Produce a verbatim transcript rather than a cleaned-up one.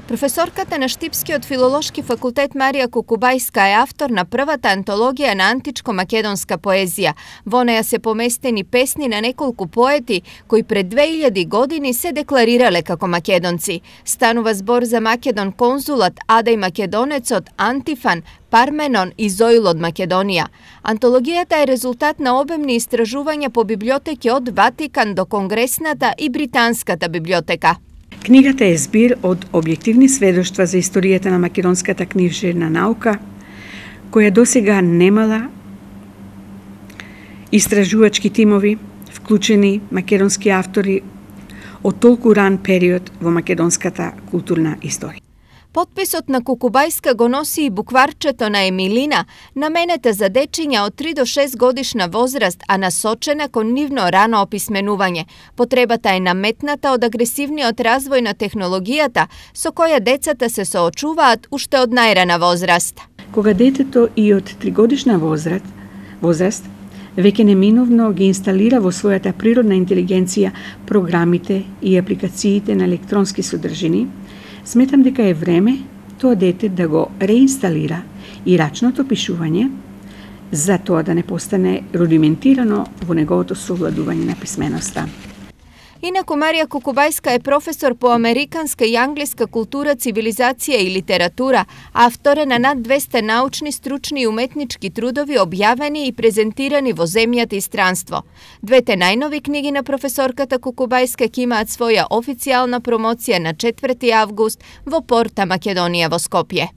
Професорката на Штипскиот филолошки факултет Марија Кукубајска е автор на првата антологија на античко-македонска поезија. Во неја се поместени песни на неколку поети кои пред две илјади години се декларирале како македонци. Станува збор за Македон конзулат, Адај Македонецот, Антифан, Парменон и Зоил од Македонија. Антологијата е резултат на обемни истражувања по библиотеки од Ватикан до Конгресната и Британската библиотека. Книгата е збир од објективни сведоштва за историјата на македонската книжевна наука, која досега немала истражувачки тимови, вклучени македонски автори од толку ран период во македонската културна историја. Потписот на Кукубајска го носи и букварчето на Емилина, наменета за дечиња од три до шест годишна возраст, а насочена кон нивно рано описменување. Потребата е наметната од агресивниот развој на технологијата, со која децата се соочуваат уште од најрана возраст. Кога детето и од тригодишна возраст, возраст веќе неминовно ги инсталира во својата природна интелигенција програмите и апликациите на електронски содржини, сметам дека е време тоа дете да го реинсталира и рачното пишување, за тоа да не постане рудиментирано во неговото совладување на писменоста. Инаку Марија Кукубајска е професор по американска и англиска култура, цивилизација и литература, автор е на над двесте научни, стручни и уметнички трудови објавени и презентирани во земјата и странство. Двете најнови книги на професорката Кукубајска ќе имаат своја официјална промоција на четврти август во Порта Македонија во Скопје.